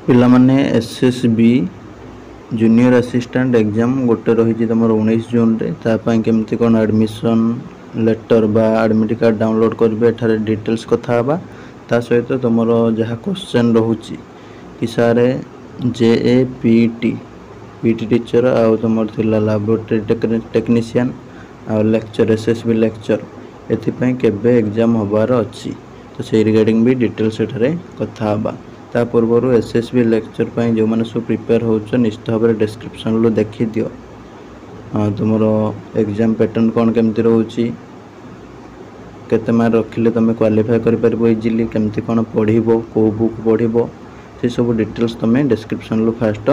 ପିଲାମାନେ, SSB junior assistant exam ଗୋଟେ ରହିଛି ତୁମର 19 ଜୁନରେ। ତା ପାଇଁ କେମିତି କ'ଣ ଆଡ଼ମିସନ୍ ଲେଟର୍ ବା ଆଡ଼ମିଟ୍ କାର୍ଡ଼ ଡାଉନଲୋଡ଼୍ କରିବେ, ଏଠାରେ ଡିଟେଲ୍ସ କଥା ହେବା। ତା ସହିତ ତୁମର ଯାହା କ୍ୱେଶ୍ଚନ୍ ରହୁଛି କି sir, J E, P T teacher ଆଉ ତୁମର ଥିଲା ଲାବୋରେଟୋରୀ ଟେକ୍ନିସିଆନ୍ ଆଉ lecture, S S B lecture, ଏଥିପାଇଁ କେବେ ଏକ୍ଜାମ୍ ହେବାର ଅଛି, ତ ସେଇ ରିଗାର୍ଡ଼ିଂ ବି ଡିଟେଲ୍ସ ଏଠାରେ କଥା ହେବା। ତା ପୂର୍ବରୁ ଏସ୍ ଏସ୍ ବି ଲେକ୍ଚର ପାଇଁ ଯେଉଁମାନେ ସବୁ ପ୍ରିପେୟାର ହେଉଛ, ନିଶ୍ଚିତ ଭାବରେ ଡେସ୍କ୍ରିପସନ୍ରୁ ଦେଖିଦିଅ ତୁମର ଏକ୍ଜାମ୍ ପ୍ୟାଟର୍ନ କ'ଣ କେମିତି ରହୁଛି, କେତେ ମାର୍କ ରଖିଲେ ତୁମେ କ୍ୱାଲିଫାଏ କରିପାରିବ ଇଜିଲି, କେମିତି କ'ଣ ପଢ଼ିବ, କେଉଁ ବୁକ୍ ପଢ଼ିବ, ସେସବୁ ଡିଟେଲ୍ସ ତୁମେ ଡେସ୍କ୍ରିପସନ୍ରୁ ଫାଷ୍ଟ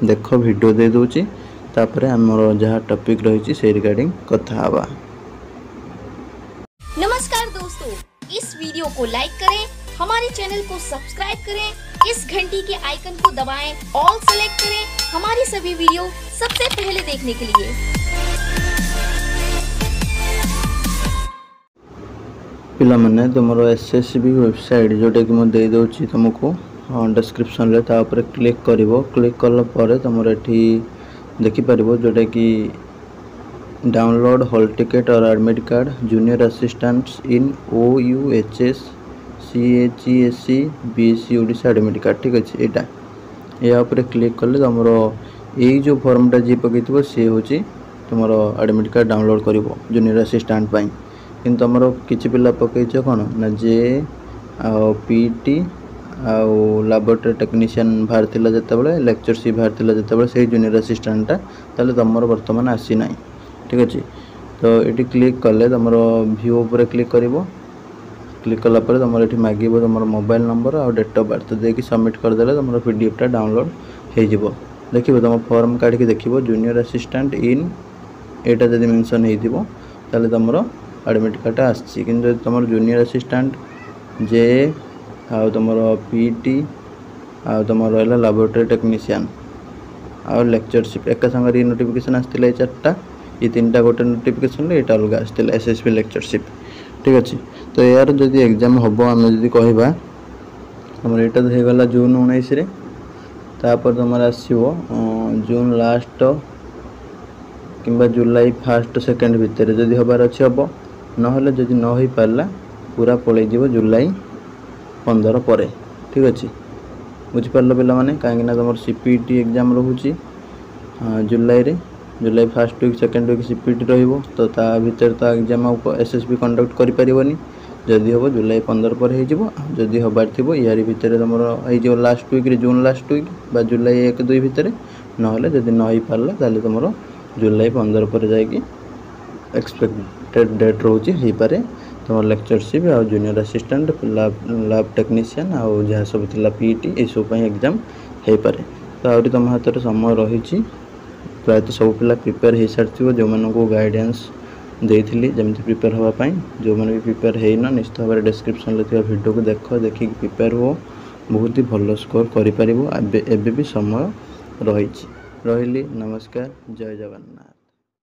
ଦେଖ। ଭିଡ଼ିଓ ଦେଇଦେଉଛି, ତାପରେ ଆମର ଯାହା ଟପିକ୍ ରହିଛି ସେଇ ରିଗାର୍ଡ଼ିଂ କଥା ହେବା। नमस्कार दोस्तों, इस वीडियो को लाइक करें, हमारे चैनल को सब्सक्राइब करें, इस घंटी के आइकन को दबाएं, ऑल सेलेक्ट करें हमारी सभी वीडियो सबसे पहले देखने के लिए। ପିଲାମାନେ, ତୁମର ଏସ୍ ଏସ୍ ବି ୱେବସାଇଟ୍ ଯେଉଁଟାକି ମୁଁ ଦେଇଦେଉଛି ତୁମକୁ ଡେସ୍କ୍ରିପସନ୍ରେ, ତା ଉପରେ କ୍ଲିକ୍ କରିବ। କ୍ଲିକ୍ କଲା ପରେ ତୁମର ଏଠି ଦେଖିପାରିବ ଯେଉଁଟାକି download hall ticket or admit card junior assistants in OUHS CHSE BSE Odisha admit card। ଠିକ୍ ଅଛି, ଏଇଟା ଏହା ଉପରେ କ୍ଲିକ୍ କଲେ ତୁମର ଏଇ ଯେଉଁ ଫର୍ମଟା ଯିଏ ପକାଇଥିବ, ସିଏ ହେଉଛି ତୁମର ଆଡ଼ମିଟ୍ କାର୍ଡ଼ ଡାଉନଲୋଡ଼୍ କରିବ ଜୁନିୟର ଆସିଷ୍ଟାଣ୍ଟ ପାଇଁ। କିନ୍ତୁ ତୁମର କିଛି ପିଲା ପକାଇଛ କ'ଣ ନା ଜେ ଆଉ ପି ଟି ଆଉ ଲାବୋରେଟୋରୀ ଟେକ୍ନିସିଆନ୍ ବାହାରିଥିଲା ଯେତେବେଳେ, ଲେକ୍ଚରସିପ୍ ବାହାରିଥିଲା ଯେତେବେଳେ, ସେଇ ଜୁନିୟର ଆସିଷ୍ଟାଣ୍ଟଟା, ତାହେଲେ ତୁମର ବର୍ତ୍ତମାନ ଆସିନାହିଁ। ଠିକ୍ ଅଛି, ତ ଏଠି କ୍ଲିକ୍ କଲେ ତୁମର ଭ୍ୟୁ ଉପରେ କ୍ଲିକ୍ କରିବ। କ୍ଲିକ୍ କଲା ପରେ ତୁମର ଏଠି ମାଗିବ ତୁମର ମୋବାଇଲ୍ ନମ୍ବର ଆଉ ଡେଟ୍ ଅଫ୍ ବାର୍ଥ ଦେଇକି ସବମିଟ୍ କରିଦେଲେ ତୁମର ପିଡିଏଫ୍ଟା ଡାଉନଲୋଡ଼୍ ହେଇଯିବ। ଦେଖିବ, ତୁମ ଫର୍ମ କାଢ଼ିକି ଦେଖିବ, ଜୁନିୟର ଆସିଷ୍ଟାଣ୍ଟ ଇନ୍ ଏଇଟା ଯଦି ମେନସନ୍ ହେଇଥିବ, ତାହେଲେ ତୁମର ଆଡ଼ମିଟ୍ କାର୍ଡ଼ଟା ଆସିଛି। କିନ୍ତୁ ଯଦି ତୁମର ଜୁନିୟର ଆସିଷ୍ଟାଣ୍ଟ ଜେ ଆଉ ତୁମର ପି ଟି ଆଉ ତୁମର ରହିଲା ଲାବୋରେଟୋରୀ ଟେକ୍ନିସିଆନ୍ ଆଉ ଲେକ୍ଚରସିପ୍ ଏକା ସାଙ୍ଗରେ ଏଇ ନୋଟିଫିକେସନ୍ ଆସିଥିଲା, ଏଇ ଚାରିଟା, ଏ ତିନିଟା ଗୋଟେ ନୋଟିଫିକେସନ୍ରେ, ଏଇଟା ଅଲଗା ଆସିଥିଲା ଏସ୍ ଏସ୍ ବି ଲେକ୍ଚରସିପ୍। ଠିକ୍ ଅଛି, ତ ଏହାର ଯଦି ଏକ୍ଜାମ୍ ହେବ, ଆମେ ଯଦି କହିବା, ତୁମର ଏଇଟା ତ ହେଇଗଲା ଜୁନ୍ 19ରେ। ତାପରେ ତୁମର ଆସିବ ଜୁନ୍ ଲାଷ୍ଟ କିମ୍ବା ଜୁଲାଇ ଫାଷ୍ଟ ସେକେଣ୍ଡ ଭିତରେ ଯଦି ହେବାର ଅଛି ହେବ, ନହେଲେ ଯଦି ନ ହେଇପାରିଲା, ପୁରା ପଳେଇଯିବ ଜୁଲାଇ 15 ପରେ। ଠିକ୍ ଅଛି, ବୁଝିପାରିଲ ପିଲାମାନେ? କାହିଁକିନା ତୁମର ସି ପି ଟି ଏକ୍ଜାମ୍ ରହୁଛି ଜୁଲାଇରେ, July first week, second week CPT ରହିବ। ତ ତା ଭିତରେ ତ ଏକ୍ଜାମ୍ ଆଉ ଏସ୍ ଏସ୍ ବି କଣ୍ଡକ୍ଟ କରିପାରିବନି। ଯଦି ହେବ, ଜୁଲାଇ 15 ପରେ ହେଇଯିବ। ଆଉ ଯଦି ହେବାର ଥିବ, ୟାରି ଭିତରେ ତୁମର ହେଇଯିବ ଲାଷ୍ଟ ୱିକ୍ରେ, ଜୁନ୍ ଲାଷ୍ଟ ୱିକ୍ ବା ଜୁଲାଇ 1-2 ଭିତରେ। ନହେଲେ ଯଦି ନ ହେଇପାରିଲା, ତାହେଲେ ତୁମର ଜୁଲାଇ 15 ପରେ ଯାଇକି ଏକ୍ସପେକ୍ଟେଡ଼ ଡେଟ୍ ରହୁଛି, ହେଇପାରେ ତୁମର ଲେକ୍ଚରସିପ୍ ଆଉ ଜୁନିୟର ଆସିଷ୍ଟାଣ୍ଟ, ଲ୍ୟାବ୍ ଟେକ୍ନିସିଆନ୍ ଆଉ ଯାହା ସବୁ ଥିଲା ପି ଟି, ଏସବୁ ପାଇଁ ଏକ୍ଜାମ୍ ହେଇପାରେ। ତ ଆହୁରି ତୁମ ହାତରେ ସମୟ ରହିଛି। ପ୍ରାୟତଃ ସବୁ ପିଲା ପ୍ରିପେୟାର ହେଇସାରିଥିବ, ଯେଉଁମାନଙ୍କୁ ଗାଇଡ଼ାନ୍ସ ଦେଇଥିଲି ଯେମିତି ପ୍ରିପେୟାର ହେବା ପାଇଁ। ଯେଉଁମାନେ ବି ପ୍ରିପେୟାର ହେଇନ, ନିଶ୍ଚିତ ଭାବରେ ଡେସ୍କ୍ରିପସନ୍ରେ ଥିବା ଭିଡ଼ିଓକୁ ଦେଖ, ଦେଖିକି ପ୍ରିପେୟାର ହୁଅ, ବହୁତ ହି ଭଲ ସ୍କୋର କରିପାରିବ। ଏବେ ଏବେ ବି ସମୟ ରହିଛି। ରହିଲି, ନମସ୍କାର, ଜୟ ଜଗନ୍ନାଥ।